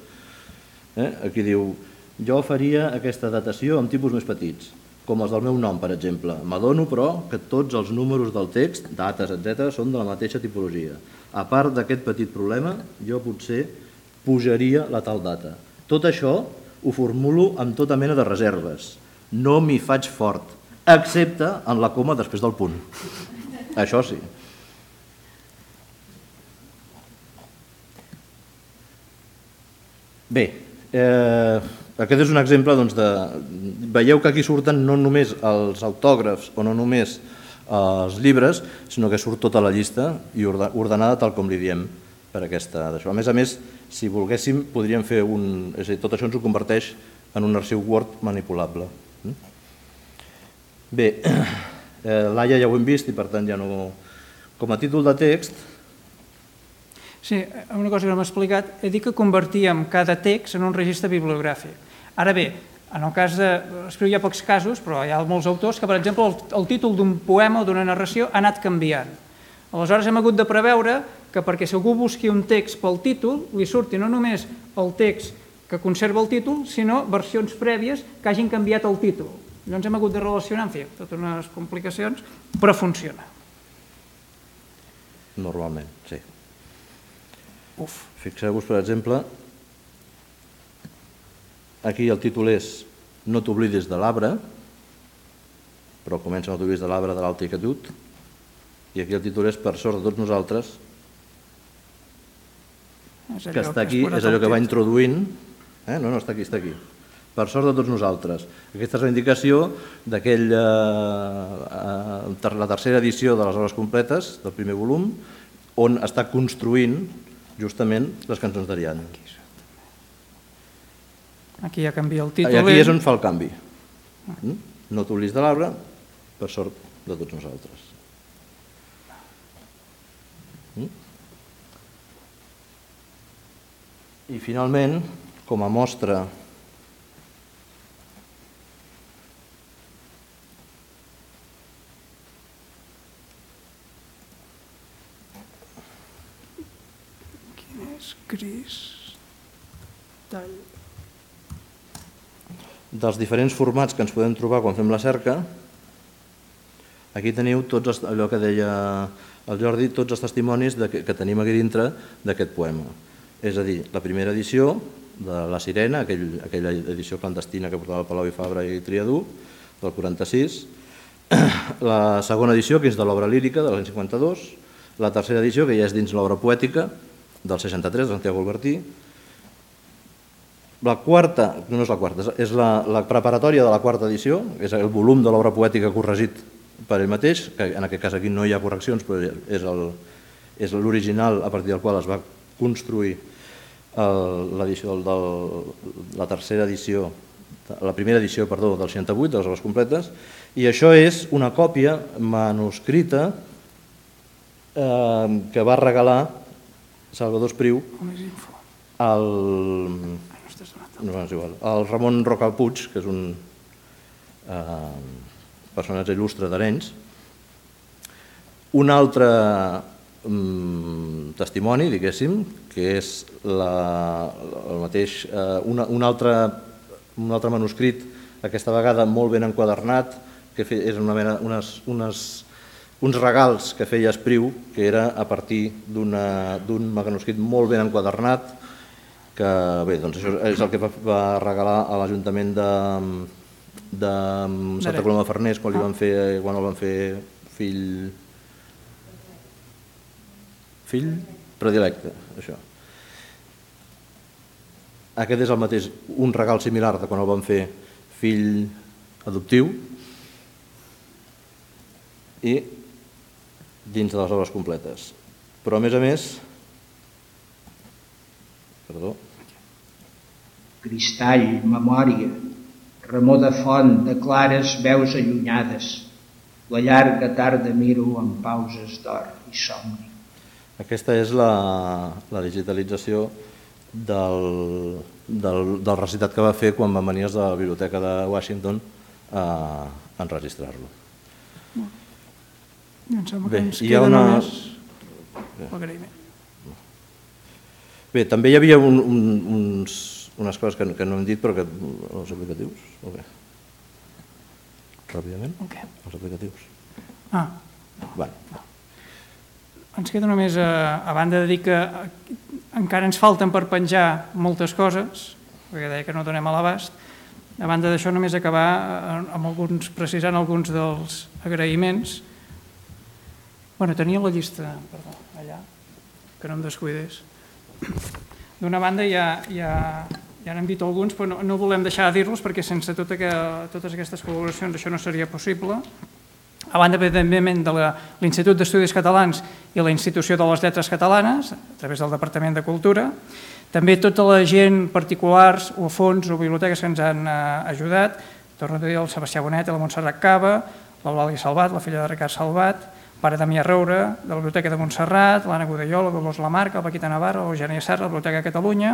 Aquí diu, jo faria aquesta datació amb tipus més petits, com els del meu nom, per exemple. M'adono, però, que tots els números del text, dates, etcètera, són de la mateixa tipologia. A part d'aquest petit problema, jo potser pujaria la tal data. Tot això ho formulo amb tota mena de reserves. No m'hi faig fort, excepte en la coma després del punt. Això sí. Bé, aquest és un exemple de... Veieu que aquí surten no només els autògrafs o no només els llibres, sinó que surt tota la llista i ordenada tal com li diem per aquesta d'això. A més a més, si volguéssim, podríem fer un... És a dir, tot això ens ho converteix en un arxiu Word manipulable. Bé, l'A I A ja ho hem vist i per tant ja no... Com a títol de text... Sí, una cosa que no m'ha explicat, he dit que convertíem cada text en un registre bibliogràfic. Ara bé, en el cas de... Escriu hi ha pocs casos, però hi ha molts autors que, per exemple, el títol d'un poema o d'una narració ha anat canviant. Aleshores hem hagut de preveure que perquè si algú busqui un text pel títol, li surti no només el text que conserva el títol, sinó versions prèvies que hagin canviat el títol. Llavors hem hagut de relacionar, en fi, totes unes complicacions, però funciona. Normalment, sí. Fixeu-vos, per exemple, aquí el títol és No t'oblidis de l'arbre, però comença No t'oblidis de l'arbre de l'alta inquietud, i aquí el títol és Per sort de tots nosaltres, que està aquí, és allò que va introduint, no, no, està aquí, està aquí, Per sort de tots nosaltres. Aquesta és la indicació d'aquella, la tercera edició de les obres completes, del primer volum, on està construint justament les cançons d'Ariadna. Aquí ja canvia el títol. I aquí és on fa el canvi. No t'oblidis de l'arbre, per sort de tots nosaltres. I finalment, com a mostra dels diferents formats que ens podem trobar quan fem la cerca, aquí teniu tots allò que deia el Jordi, tots els testimonis que tenim aquí dintre d'aquest poema. És a dir, la primera edició de La Sirena, aquella edició clandestina que portava Palau i Fabra i Triadú, del quaranta-sis, la segona edició, que és de l'obra lírica, de l'any cinquanta-dos, la tercera edició, que ja és dins l'obra poètica, del seixanta-tres, de Santiago Albertí. La quarta, no és la quarta, és la preparatòria de la quarta edició, és el volum de l'obra poètica corregit per ell mateix, que en aquest cas aquí no hi ha correccions, però és l'original a partir del qual es va construir la tercera edició, la primera edició, perdó, del seixanta-vuit, de les obres completes, i això és una còpia manuscrita que va regalar Salvador Espriu al... no és igual, el Ramon Roca Puig, que és un personatge il·lustre d'Arenys, Un altre testimoni, diguéssim, que és el mateix, un altre manuscrit, aquesta vegada molt ben enquadernat, que és uns regals que feia Espriu, que era a partir d'un manuscrit molt ben enquadernat, que bé, doncs això és el que va regalar a l'Ajuntament de Santa Coloma de Farners quan el van fer fill fill predilecte, això. Aquest és el mateix, un regal similar de quan el van fer fill adoptiu i dins de les obres completes. Però a més a més, perdó, cristall, memòria, remor de font, de clares veus allunyades, la llarga tarda miro amb pauses d'or i somni. Aquesta és la digitalització del recitat que va fer quan van venir de la Biblioteca de Washington a enregistrar-lo. Em sembla que ens queda només l'agraïment. Bé, també hi havia unes coses que no hem dit, però que els aplicatius, o bé? Ràpidament? Els aplicatius. Ah. Bé. Ens queda només, a banda de dir que encara ens falten per penjar moltes coses, perquè deia que no donem a l'abast, a banda d'això només acabar precisant alguns dels agraïments. Bueno, tenia la llista, perdó, allà, que no em descuidés. D'una banda ja n'hem dit alguns, però no volem deixar de dir-los perquè sense totes aquestes col·laboracions això no seria possible. A banda, evidentment, de l'Institut d'Estudis Catalans i la Institució de les Lletres Catalanes, a través del Departament de Cultura, també tota la gent, particulars o fons o biblioteques que ens han ajudat, torno a dir el Sebastià Bonet, la Montserrat Cava, l'Eulàlia Salvat, la filla de Ricard Salvat, pare Damià Roure, de la Biblioteca de Montserrat, l'Anna Godelló, la Dolors Lamarca, el Paquita Navarra, l'Eugènia Serra, la Biblioteca de Catalunya,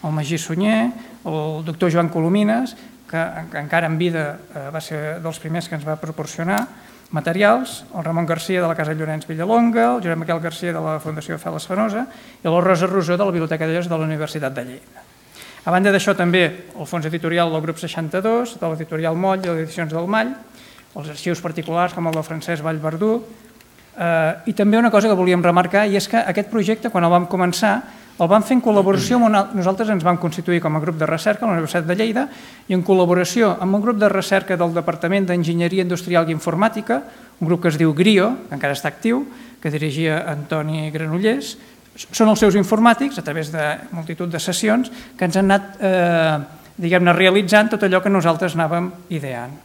el Magí Sunyer, el doctor Joan Colomines, que encara en vida va ser dels primers que ens va proporcionar materials, el Ramon Garcia de la Casa Llorenç Villalonga, el Josep Miquel Garcia de la Fundació Feles Fenosa i la Rosa Rosó de la Biblioteca de Lletres de la Universitat de Lleida. A banda d'això també el fons editorial del grup seixanta-dos, de l'editorial Moll i les edicions del Mall, els arxius particulars com el de Francesc Vallverdú, i també una cosa que volíem remarcar i és que aquest projecte quan el vam començar el vam fer en col·laboració amb nosaltres ens vam constituir com a grup de recerca a la Universitat de Lleida i en col·laboració amb un grup de recerca del Departament d'Enginyeria Industrial i Informàtica, un grup que es diu GRIO, que encara està actiu, que dirigia Antoni Granollers. Són els seus informàtics, a través de multitud de sessions, que ens han anat diguem-ne realitzant tot allò que nosaltres anàvem ideant.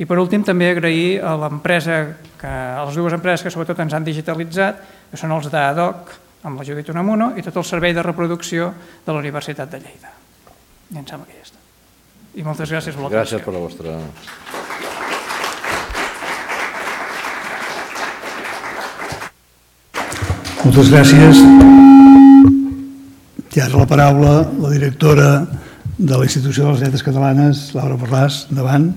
I per últim també agrair a l'empresa, a les dues empreses que sobretot ens han digitalitzat, que són els d'Adoc, amb la Judit Unamuno, i tot el servei de reproducció de la Universitat de Lleida. I em sembla que ja està. I moltes gràcies per la atenció. Gràcies per la vostra... Moltes gràcies. I ara la paraula la directora de la Institució de les Lletres Catalanes, Laura Borràs. Endavant.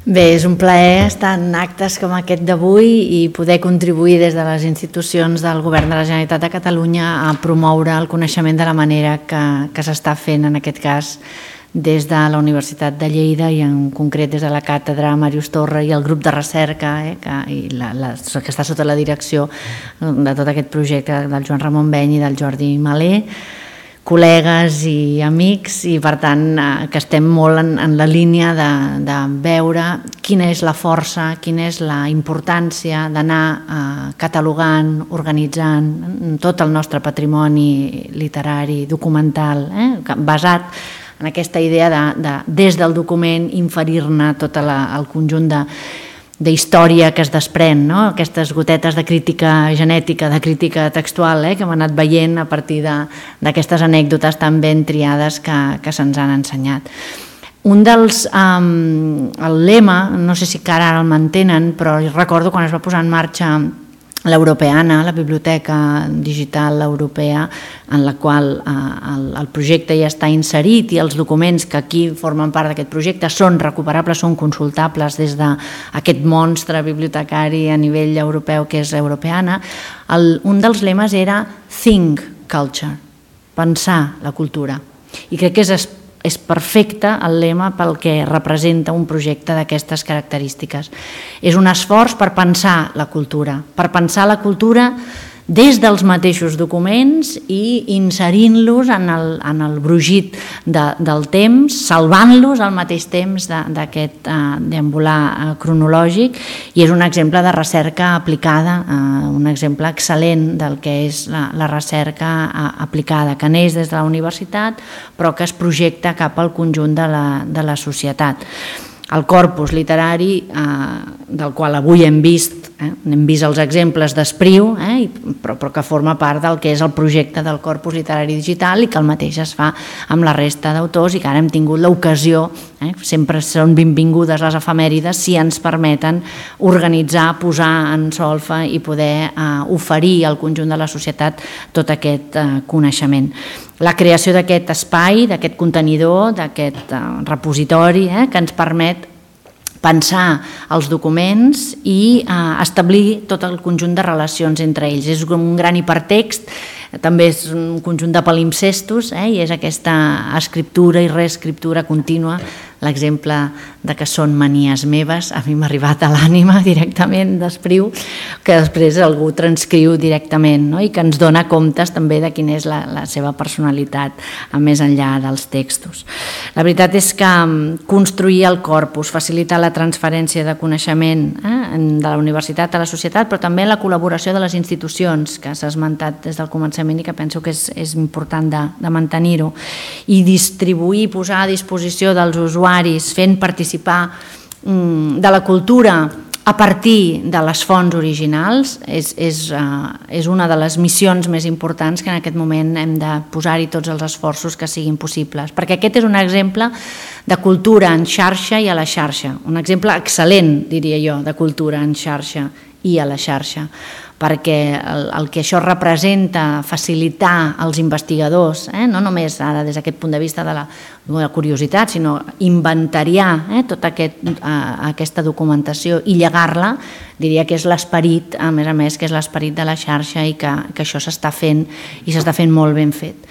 Bé, és un plaer estar en actes com aquest d'avui i poder contribuir des de les institucions del Govern de la Generalitat de Catalunya a promoure el coneixement de la manera que s'està fent, en aquest cas, des de la Universitat de Lleida i en concret des de la càtedra Màrius Torra i el grup de recerca que està sota la direcció de tot aquest projecte del Joan Ramon Beny i del Jordi Malé, col·legues i amics, i per tant que estem molt en la línia de veure quina és la força, quina és la importància d'anar catalogant, organitzant tot el nostre patrimoni literari, documental, basat en aquesta idea de des del document inferir-ne tot el conjunt de d'història que es desprèn, aquestes gotetes de crítica genètica, de crítica textual que hem anat veient a partir d'aquestes anècdotes tan ben triades que se'ns han ensenyat. Un dels... el lema, no sé si encara el mantenen, però recordo quan es va posar en marxa l'Europeana, la Biblioteca Digital Europea, en la qual el, el projecte ja està inserit i els documents que aquí formen part d'aquest projecte són recuperables, són consultables des d'aquest monstre bibliotecari a nivell europeu que és Europeana. El, un dels lemes era Think Culture, pensar la cultura. I crec que és és perfecte el lema pel que representa un projecte d'aquestes característiques. És un esforç per pensar la cultura, per pensar la cultura des dels mateixos documents i inserint-los en el, en el brugit de, del temps, salvant-los al mateix temps d'aquest de, uh, deambular uh, cronològic, i és un exemple de recerca aplicada, uh, un exemple excel·lent del que és la, la recerca uh, aplicada, que neix des de la universitat però que es projecta cap al conjunt de la, de la societat. El corpus literari, eh, del qual avui hem vist, eh, hem vist els exemples d'Espriu, eh, però, però que forma part del que és el projecte del corpus literari digital i que el mateix es fa amb la resta d'autors i que ara hem tingut l'ocasió, eh, sempre són benvingudes les efemèrides si ens permeten organitzar, posar en solfa i poder eh, oferir al conjunt de la societat tot aquest eh, coneixement. La creació d'aquest espai, d'aquest contenidor, d'aquest uh, repositori eh, que ens permet pensar els documents i uh, establir tot el conjunt de relacions entre ells. És un gran hipertext, també és un conjunt de palimpsestos eh, i és aquesta escriptura i reescriptura contínua. L'exemple de que són manies meves a mi m'ha arribat a l'ànima directament d'Espriu, que després algú transcriu directament, no? I que ens dona comptes també de quina és la, la seva personalitat a més enllà dels textos. La veritat és que construir el corpus, facilitar la transferència de coneixement eh, de la universitat a la societat, però també la col·laboració de les institucions, que s'ha esmentat des del començament i que penso que és, és important de, de mantenir-ho, i distribuir, posar a disposició dels usuaris, fent participar de la cultura a partir de les fonts originals, és, és, uh, és una de les missions més importants que en aquest moment hem de posar-hi tots els esforços que siguin possibles, perquè aquest és un exemple de cultura en xarxa i a la xarxa, un exemple excel·lent, diria jo, de cultura en xarxa i a la xarxa, perquè el, el que això representa, facilitar als investigadors, eh, no només ara des d'aquest punt de vista de la, de la curiositat, sinó inventariar eh, tota aquest, eh, aquesta documentació i llegar-la, diria que és l'esperit, a més a més, que és l'esperit de la xarxa i que, que això s'està fent i s'està fent molt ben fet.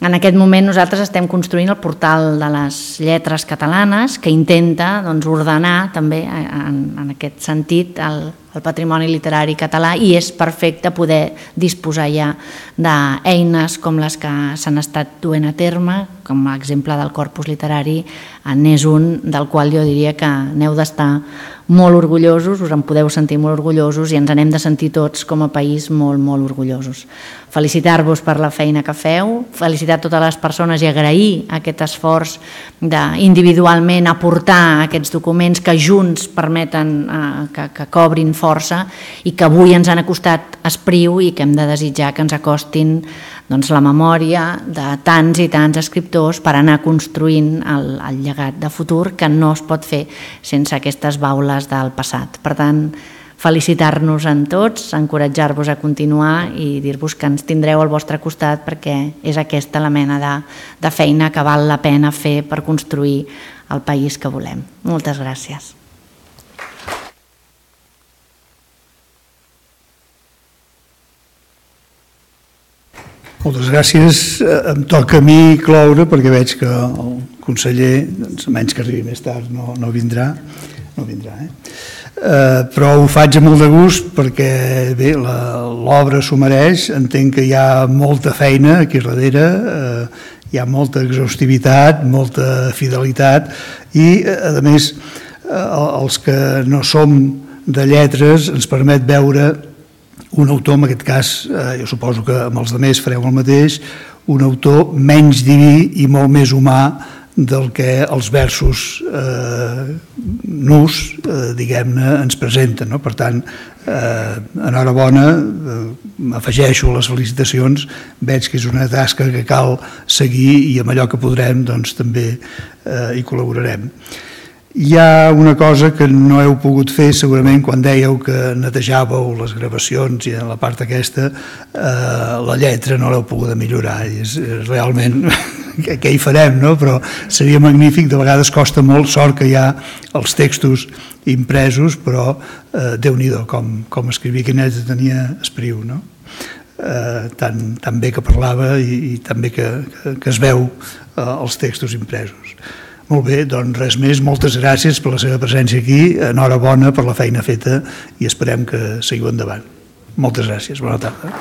En aquest moment nosaltres estem construint el portal de les lletres catalanes que intenta doncs, ordenar també en, en aquest sentit el, el patrimoni literari català i és perfecte poder disposar ja d'eines com les que s'han estat duent a terme, com l'exemple del corpus literari n'és un del qual jo diria que n'heu d'estar molt orgullosos, us en podeu sentir molt orgullosos i ens n'hem de sentir tots com a país molt, molt orgullosos. Felicitar-vos per la feina que feu, felicitar totes les persones i agrair aquest esforç d'individualment aportar aquests documents que junts permeten eh, que, que cobrin força i que avui ens han acostat Espriu i que hem de desitjar que ens acostin doncs, la memòria de tants i tants escriptors per anar construint el, el llegat de futur que no es pot fer sense aquestes baules del passat. Per tant, felicitar-nos en tots, encoratjar-vos a continuar i dir-vos que ens tindreu al vostre costat perquè és aquesta la mena de, de feina que val la pena fer per construir el país que volem. Moltes gràcies. Moltes gràcies. Em toca a mi cloure perquè veig que el conseller, doncs, menys que arribi més tard, no, no vindrà. No vindrà eh? Uh, però ho faig amb molt de gust perquè bé, l'obra s'ho mereix, entenc que hi ha molta feina aquí darrere, uh, hi ha molta exhaustivitat, molta fidelitat i a més uh, els que no som de lletres ens permet veure un autor, en aquest cas, uh, jo suposo que amb els altres fareu el mateix, un autor menys diví i molt més humà del que els versos eh, nus, eh, diguem-ne, ens presenten. No? Per tant, eh, enhorabona, eh, m'afegeixo les felicitacions, veig que és una tasca que cal seguir i amb allò que podrem doncs, també eh, hi col·laborarem. Hi ha una cosa que no heu pogut fer segurament quan dèieu que netejàveu les gravacions i en la part aquesta eh, la lletra no l'heu pogut millorar i és, és realment què hi farem, no? Però seria magnífic, de vegades costa molt, sort que hi ha els textos impresos, però eh, Déu-n'hi-do com, com escrivia, que net tenia Espriu, no? Eh, tan, tan bé que parlava i, i tan bé que, que, que es veu eh, els textos impresos. Molt bé, doncs res més, moltes gràcies per la seva presència aquí, enhorabona per la feina feta i esperem que seguiu endavant. Moltes gràcies, bona tarda.